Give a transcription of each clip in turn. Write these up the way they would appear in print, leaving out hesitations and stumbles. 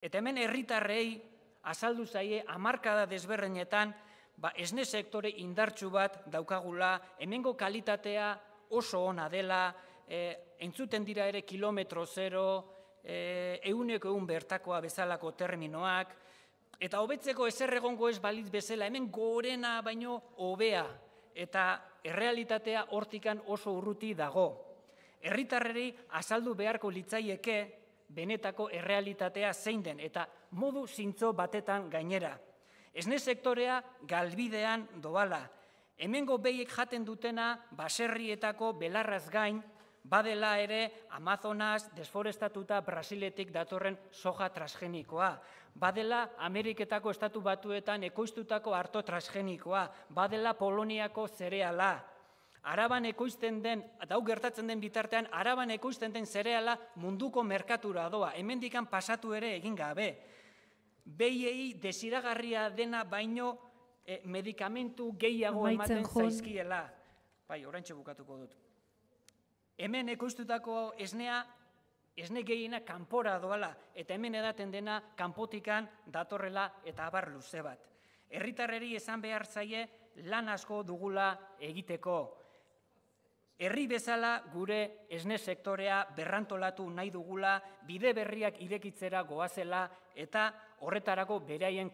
Eta hemen herritarrei azaldu zaie hamarkada desberdinetan esne sektore indartsu bat daukagula, hemengo kalitatea oso ona dela, entzuten dira ere kilometro zero, 100% bertakoa bezalako terminoak, eta hobetzeko ezer egongo ez balitz bezala, hemen gorena baino hobea, eta errealitatea hortikan oso urruti dago. Herritarrei azaldu beharko litzaieke benetako errealitatea zein den, eta modu zintzo batetan gainera. Esne sektorea galbidean doala. Hemengo behiek jaten dutena baserrietako belarraz gain, badela ere Amazonas desforestatuta Brasiletik datorren soja transgenikoa, badela Ameriketako estatu batuetan ekoiztutako arto transgenikoa, badela Poloniako zereala. Araban ekoizten den, eta hau gertatzen den bitartean, Araban ekoizten den zereala munduko merkatura doa, hemendikan pasatu ere egin gabe. Behiei desiragarria dena baino medikamentu gehiago ematen zaizkiela. Bai, oraintxe bukatuko dut. Hemen ekoiztutako esnea, esne gehiena kanpora doala, eta hemen edaten dena kanpotikan datorrela eta abar luze bat. Herritarrei esan behar zaie lan asko dugula egiteko. Herri bezala gure esne sektorea berrantolatu nahi dugula, bide berriak irekitzera goazela eta horretarako beraien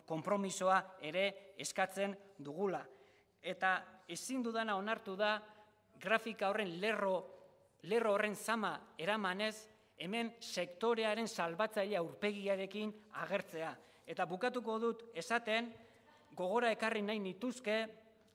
konpromisoa ere eskatzen dugula. Eta ezin dudana onartu da grafika horren lerro horren zama eramanez hemen sektorearen salbatzaile aurpegiarekin agertzea. Eta bukatuko dut esaten gogora ekarri nahi nituzke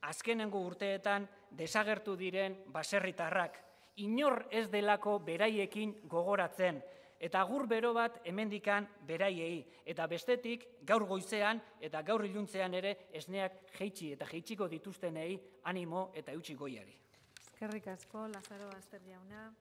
azkenengo urteetan desagertu diren baserritarrak. Inor ez delako beraiekin gogoratzen. Eta agur bero bat hemendikan beraiei. Eta bestetik gaur goizean eta gaur iluntzean ere esneak jeitsi eta jeitsiko dituztenei animo eta eutsi goiari. Eskerrik asko, Lazaro Aster jauna.